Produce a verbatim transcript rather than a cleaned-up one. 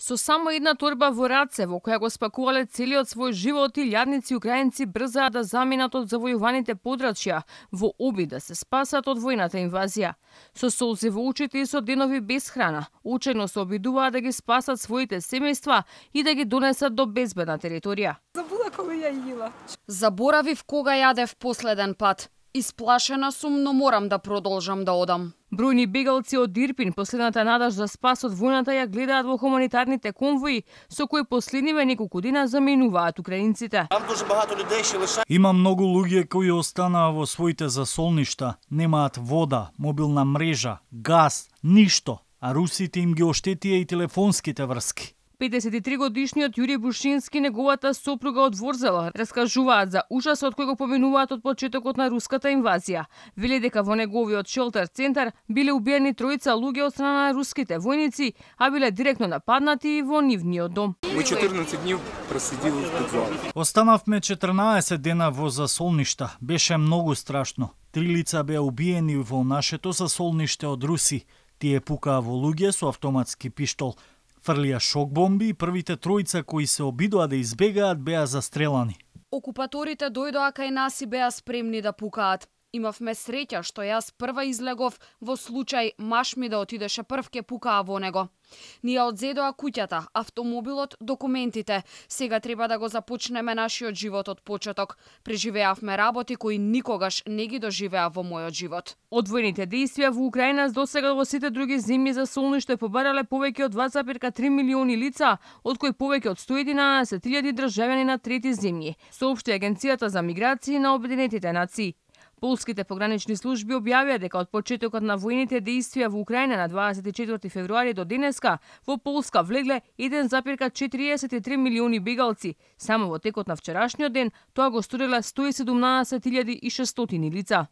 Со само една торба во раце, во која го спакувале целиот свој живот, илјадници украинци брзаа да заминат од завојуваните подрачја во обид да се спасат од војната инвазија. Со солзи во очите и со денови без храна, учено се обидуваа да ги спасат своите семејства и да ги донесат до безбедна територија. Забула кога ја јила. Заборавив кога јадев последен пат. Исплашена сум, но морам да продолжам да одам. Бројни бегалци од Ирпин последната надеж за спас од војната ја гледаат во хуманитарните конвои, со кои последниве неколку дена заминуваат украинците. Има многу луѓе кои останаа во своите засолништа, немаат вода, мобилна мрежа, газ, ништо, а русите им ги оштетија и телефонските врски. педесет и три годишниот Јури Бушински, неговата сопруга од Ворзел, раскажуваат за ужасот кој го поминуваат од почетокот на руската инвазија. Веле дека во неговиот шелтер центар биле убиени тројца луѓе од страна на руските војници, а биле директно нападнати и во нивниот дом. Мы четрнаесет дни проседили в подвале. Останавме четрнаесет дена во засолништа. Беше многу страшно. Три лица беа убиени во нашето засолниште од руси. Тие пукаа во луѓе со автоматски пиштол. Фрлија шок бомби и првите тројца кои се обидоа да избегаат беа застрелани. Окупаторите дојдоа кај нас и беа спремни да пукаат. Имавме среќа што јас прва излегов во случај маш ми да отидеше прв ке пукаа во него. Ние одзедоа куќата, автомобилот, документите. Сега треба да го започнеме нашиот живот од почеток. Преживеавме работи кои никогаш не ги доживеа во мојот живот. Од војните дејствија во Украина досега во сите други земји за солниште побарале повеќе од два запирка три милиони лица, од кои повеќе од сто и единаесет илјади државјани на трети земји, соопшти Агенцијата за миграции на Обединетите нации. Полските погранични служби објавија дека од почетокот на војните дејствија во Украина на дваесет и четврти февруари до денеска во Полска влегле еден запирка четириесет и три милиони бегалци. Само во текот на вчерашниот ден тоа го сториле сто и седумнаесет илјади и шестстотини лица.